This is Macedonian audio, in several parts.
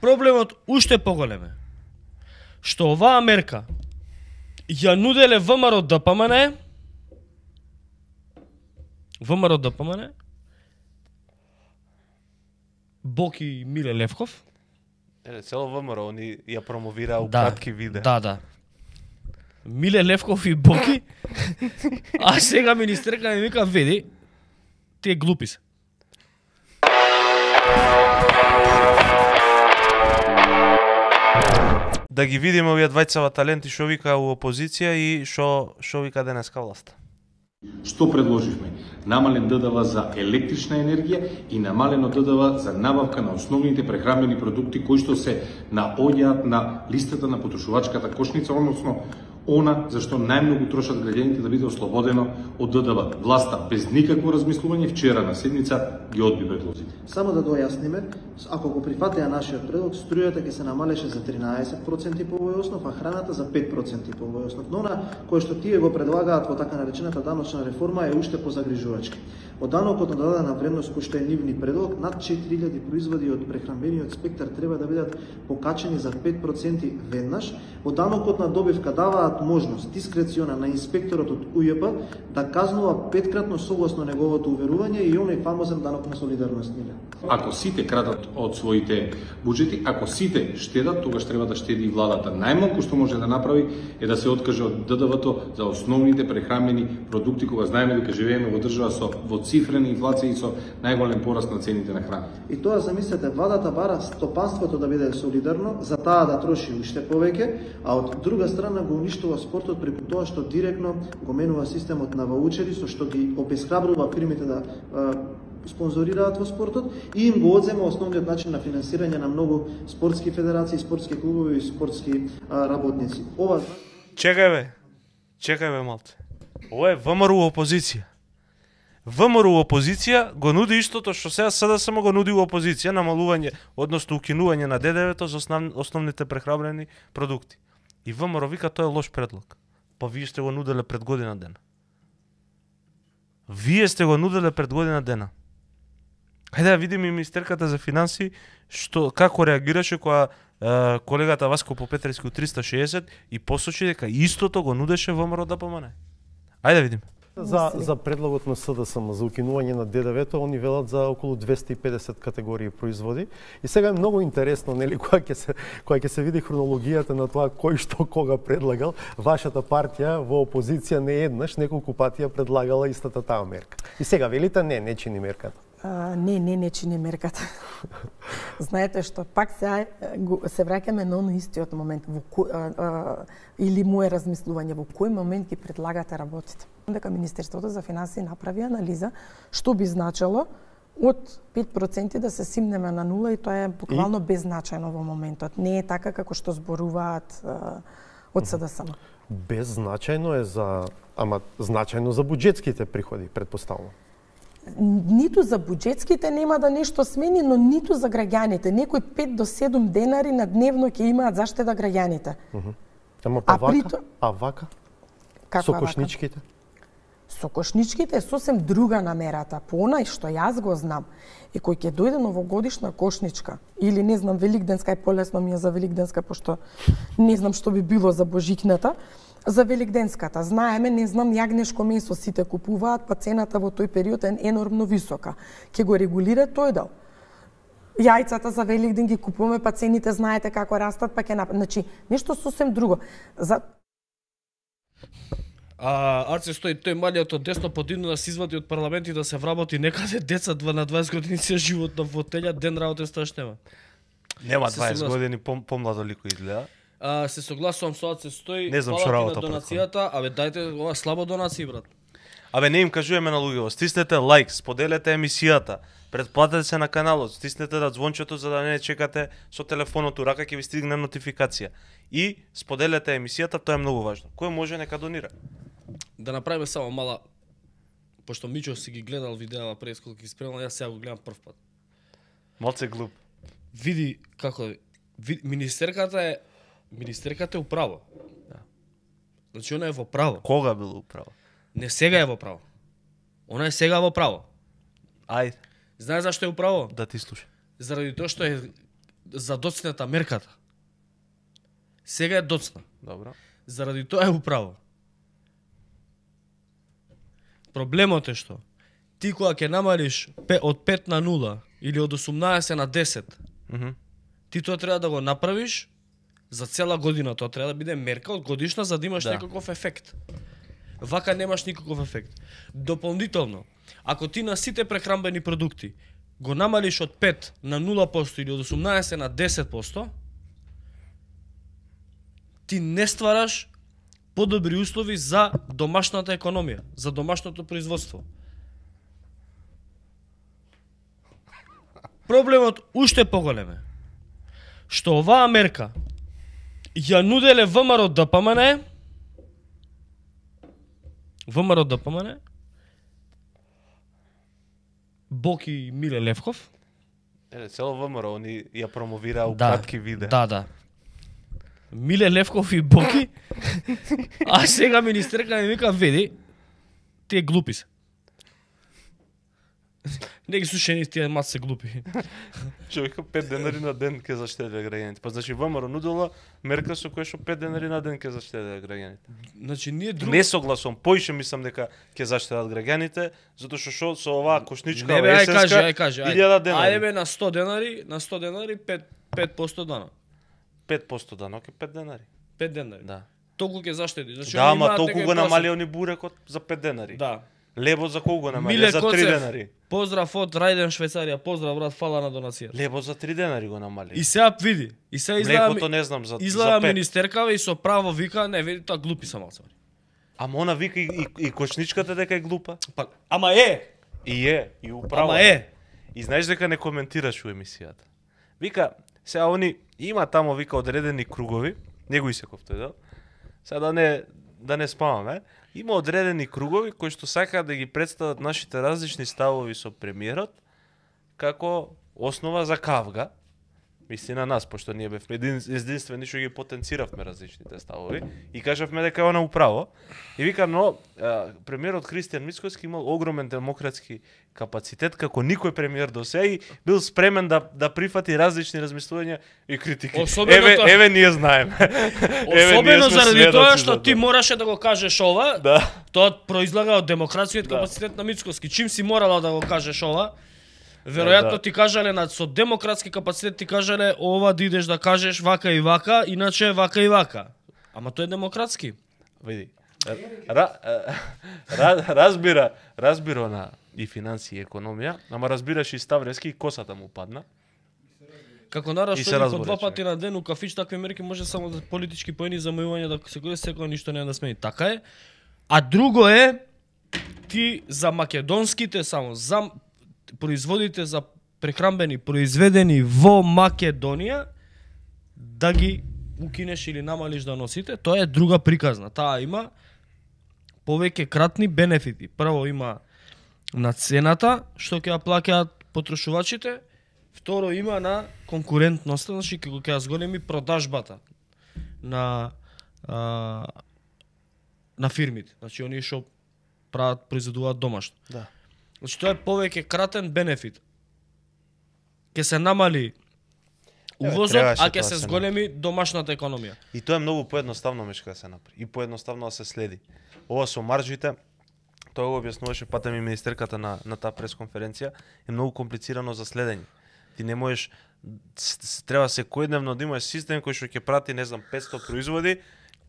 проблемот уште поголем е што оваа мерка ја нуделе ВМРО ДПМН Боки Миле Левков. Цело ВМРО, они ја промовираа у кратки видеа. Да. Миле Левков и Боки. А сега министерка ми вика, веди, тие глупи се. Да ги видиме овие двајцава таленти што вика у опозиција и што вика денеска власт. Што предложивме? Намален ДДВ за електрична енергија и намалено ДДВ за набавка на основните прехранбени продукти кои што се наоѓаат на листата на потрошувачката кошница, односно она за што најмногу трошат граѓаните да биде ослободено од ДДВ. Власта без никакво размислување вчера на седница ги одби предлозите. Само да дојасниме, ако го прифатија нашиот предлог, струјата ќе се намалеше за 13% по овој основ, а храната за 5% по овој основ. Но она кое што тие го предлагаат во така наречената даночна реформа е уште позагрижувачки. Од данокот на додадена вредност кој што е нивни предлог, над 4000 производи од прехранбениот спектар треба да бидат покачени за 5% веднаш. Од данокот на добивка даваат можност дискрециона на инспекторот од УЈП да казнува 5кратно согласно неговото уверување и оној фамозен данок на солидарност. Ако сите крадат од своите буџети, ако сите штедат, тогаш треба да штеди и владата. Најмалку што може да направи е да се откаже од ДДВ-то за основните прехранбени продукти, кога знаеме дека живееме во држава со двоцифрена инфлација и со најголем пораст на цените на храна. И тоа замислете, владата бара стопанството да биде солидарно, за таа да троши уште повеќе, а од друга страна го уништува спортот преку тоа што директно го менува системот на ваучери, со што ги обесхрабрува фирмите да спонзорираат во спортот и им го одзема основниот начин на финансирање на многу спортски федерации, спортски клубови и спортски работници. Ова Чекај бе малце. Ова е ВМРО опозиција. ВМРО опозиција го нуди истото што сега СДСМ го нуди опозиција, намалување, односно укинување на ДДВ-то за основните прехранбени продукти. И ВМРО вика тоа е лош предлог. Па вие сте го нуделе пред година дена. Хајде да видиме министерката за финансии како реагираше кога колегата Васко Попетрески 360 и посочи дека истото го нудеше ВМРО ДПМН. Ајде да видиме. За предлогот на СДСМ за укинување на ДДВ-то, они велат за околу 250 категории производи. И сега е многу интересно, нели, кога ќе се види хронологијата на тоа кој што кога предлагал, вашата партија во опозиција не еднаш, неколку пати ја предлагала истата таа мерка. И сега велите не чини мерката. Не чини мерката. Знаете што, пак се враќаме на оној истиот момент, или мое размислување, во кој момент ги предлагате работите. Дека Министерството за финансии направи анализа што би значило од 5% да се симнеме на нула и тоа е буквално беззначајно во моментот. Не е така како што зборуваат од СДСМ. Беззначајно е ама значајно за буџетските приходи, претпоставувам. Ниту за буџетските нема да нешто смени, но ниту за граѓаните. Некои 5 до 7 денари на дневно ќе имаат заштеда граѓаните. Ама вака? Со кошничките? Со кошничките е сосем друга намерата. По онај што јас го знам, и кој ќе дојде новогодишна кошничка, или не знам, великденска, е полесно ми е за великденска, пошто не знам што би било за божикната, за великденската. Знаеме, не знам, јагнешко месо сите купуваат, па цената во тој период е енормно висока. Ќе го регулира тој дел. Јајцата за Великден ги купуваме, па цените знаете како растат, па ќе значи нешто сосем друго. Арце стои тој малиот од десно подигну да се извади од парламент и да се вработи некаде деца на 20 години се живот на фотелја, ден работа страшнема. Нема 20 години, помладо лико изгледа. Се согласувам со Арце стои. Не знам што работа донацијата, дајте ова слабо донации, брат. Не им кажуваме на луѓето, стиснете лайк, споделете емисијата, претплатете се на каналот, стиснете да звончето за да не чекате со телефонот у рака, ќе ви стигне нотификација. И споделете емисијата, тоа е многу важно. Кој може нека донира? Да направиме само мала, пошто Мичо си ги гледал видеа пред колку ги спремал, јас сега го гледам прв пат. Малце глуп. Види како министерката е управо. Да. Значи она е во право. Кога било управо? Не сега е во право. Она е сега во право. Ајде. Знаеш зашто е управо? Да ти слушам. Заради тоа што е за доцнета мерката. Сега е доцна. Добро. Заради тоа е управо. Проблемот е што ти кога ќе намалиш од 5 на 0 или од 18 на 10, ти тоа треба да го направиш за цела година. Тоа треба да биде мерка од годишна за да имаш некаков ефект. Вака немаш никаков ефект. Дополнително, ако ти на сите прехранбени продукти го намалиш од 5 на 0% или од 18 на 10%, ти не ствараш подобри услови за домашната економија, за домашното производство. Проблемот уште поголем е што оваа мерка ја нуделе ВМРО ДПМН, Боки и Миле Левков. Цело ВМРО, они ја промовираа кратки видеа. Да. Миле Левков и Боки, а сега министерка ми вика, види, тие глупи се. Не ги слушани тие мас се глупи. Човека 5 денари на ден ќе заштеди граѓаните. Па значи ВМРО нудела мерка со која што 5 денари на ден ќе заштеди граѓаните. Значи ние друго Не согласувам, поише мислам дека ќе заштедат граѓаните, затоа што со оваа кошничка ај кажи. 1000 денари. Ајде бе на 100 денари 5% данок. 5% данок е 5 денари. 5 денари. Да. Толку ќе заштеди. Значи Да, ама толку го намали они бурекот за 5 денари. Да. Лебо за колку го намали? Миле За 3 Коцев, денари. Поздрав од Рајден Швајцарија, поздрав брат, фала на донацијата. Лебо за 3 денари го намали. И сега види, и сега Млекото не знам за изгледа 5. министеркава и со право вика, не види тоа глупи са малце. Ама она вика и кошничката дека е глупа. Па, ама е. И управо. Ама е. И знаеш дека не коментираш у емисијата. Вика, сега они има тамо вика одредени кругови, не го исеков тој дел. Сега да не спаваме. Има одредени кругови кои што сакаат да ги представат нашите различни ставови со премиерот како основа за кавга. Мисли на нас, пошто ние бевме единствени што ги потенциравме различните ставови и кажавме дека е она управо. И вика, но премиерот Христијан Мицкоски имал огромен демократски капацитет како никој премиер до сега и бил спремен да прифати различни размислувања и критики. Еве ние знаеме. Особено заради тоа што ти мораше да го кажеш ова. Да. Тоа произлага од демократскиот капацитет на Мицкоски. Чим си морала да го кажеш ова? Веројатно ти кажале со демократски капацитет ти кажале ова да идеш да кажеш вака и вака, иначе вака и вака. Ама тоа е демократски. Види. Разбира на и финансии и економија, ама разбираш и Ставрески и косата му падна. Како народ што по 2 пати на ден у кафич, такви мерки може само да политички поени замајување да се користи секој ништо не да смени. Така е. А друго е ти за македонските само за производите за прехранбени произведени во Македонија да ги укинеш или намалиш да носите, тоа е друга приказна. Таа има повеќе кратни бенефити. Прво има на цената што ќе ја плаќаат потрошувачите, второ има на конкурентноста, значи ќе ја зголеми продажбата на фирмите. Значи оние што произведуваат домашно. Да. Значи тоа е повеќе кратен бенефит. Ќе се намали увозот, а ќе се зголеми домашната економија. И тоа е многу поедноставно мешка да се направи. И поедноставно да се следи. Ова со маржите, тоа го објаснуваше патем и министерката на таа пресконференција, е многу комплицирано за следење. Ти не можеш, треба секојдневно да имаш систем кој што ќе прати, не знам, 500 производи,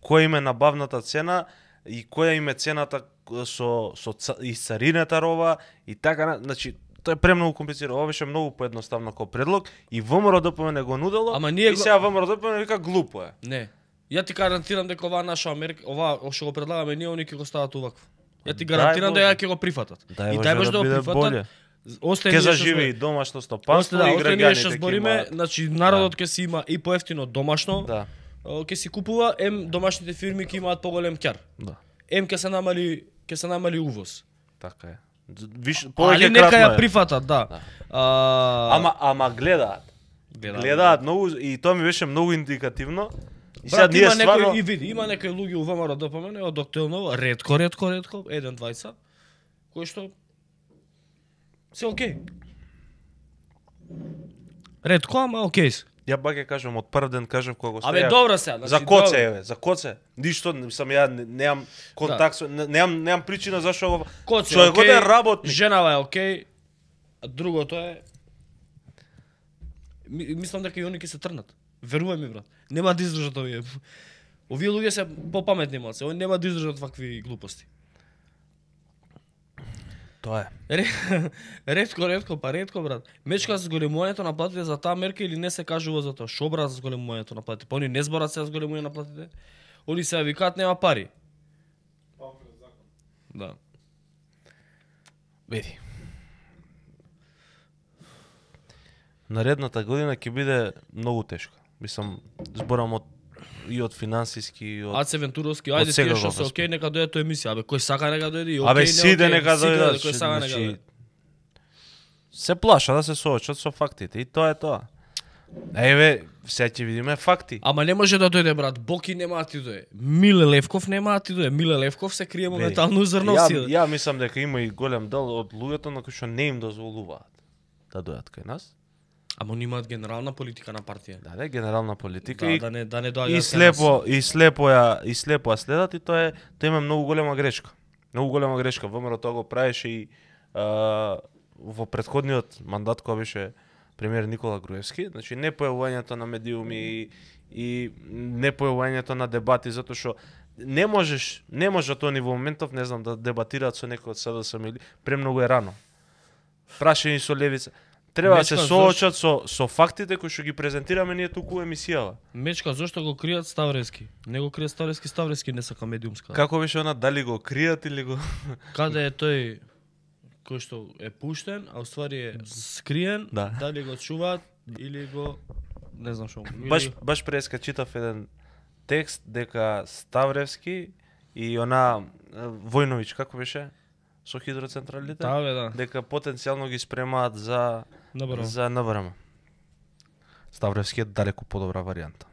која им е набавната цена и која им е цената со исцарината роба и така, значи тоа е премногу комплицирано. Ова беше многу поедноставно како предлог и ВМРО ДПМН го нудело. И сега ВМРО ДПМН вика глупо е. Не. Ја ти гарантирам дека оваа наша Америка, ова што го предлагаме ние, они ќе го стават увакво. Ја ти гарантирам дека ќе го прифатат. И дај може да го прифатат. Ќе заживи и домашно стопанство и граѓаните ќе збориме, значи народот ќе си има и поевтино домашно. Да. Ќе си купува, домашните фирми ќе имаат поголем ќар. Да. Ќе се намали увоз. Така е. Виш повеќе нека ја прифатат, да. Ама гледаат многу и тоа ми беше многу индикативно. И сега ние стварно има некои луѓе у ВМРО ДПМН од октомври, ретко, еден-двајца, кои што се окей. Ретко, ама окей. Ја баке кажам, од прв ден кажав кога го Абе добро се, за коце еве, за коце. Ништо сам ја немам контакт, немам причина зашо го коце. Човекот е работник. Женава е окей. А другото е мислам дека и они ќе се трнат. Верувај ми брат. Нема да издржат овие. Овие луѓе се попаметни малце, они нема да издржат вакви глупости. Тоа е. Ретко брат. Мечка за зголемувањето на платите за таа мерка или не се кажува за тоа? Шо брат за зголемувањето на платите? Па они не зборат се за зголемување на платите. Они се викаат нема пари. Да. Види. Наредната година ќе биде многу тешка. Мислам, зборам од финансиски и од Аце Вентуровски, ајде тие што се окей, нека дојде тоа емисија. Абе кој сака нека дојде и окей. Абе сиде нека дојде. Кој сака нека дојде. Се плаша да се соочат со фактите и тоа е тоа. Еве, сега ќе видиме факти. Ама не може да дојде брат, Боки нема да ти дојде. Миле Левков нема да ти дојде. Миле Левков се крие моментално Зрновски. Ја мислам дека има и голем дел од луѓето на кои што не им дозволуваат да дојдат кај нас. Ама они имаат генерална политика на партија. Да, генерална политика да не доаѓаат. И слепо ја следат и тоа има многу голема грешка. Многу голема грешка. ВМРО тоа го правеше и во претходниот мандат кога беше премиер Никола Груевски, значи не појавувањето на медиуми и не појавувањето на дебати затоа што не можат они во моментов, не знам, да дебатираат со некој од СДСМ или премногу е рано. Прашање со левица. Треба да се соочат со фактите кои што ги презентираме ние туку емисијава. Мечка, зошто го кријат Ставрески? Не го кријат Ставрески не сака медиумска. Како беше она, дали го кријат или го... Каде е тој кој што е пуштен, а уствари е скриен, да. Дали го чуваат или го... Не знам шо. Баш преска читав еден текст дека Ставревски и она Војновиќ, како беше? Со хидроцентралите? Да. Дека потенцијално ги спремаат за НВРМ. Ставревски е далеку подобра варијанта.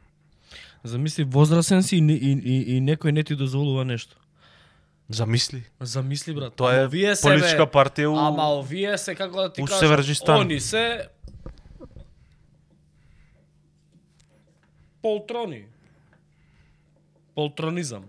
Замисли возрасен си и некој не ти дозволува нешто. Замисли, брат. Тоа е политичка партија у... Ама овие се, како да ти кажам, Северџистан. Они се полтрони. Полтронизам.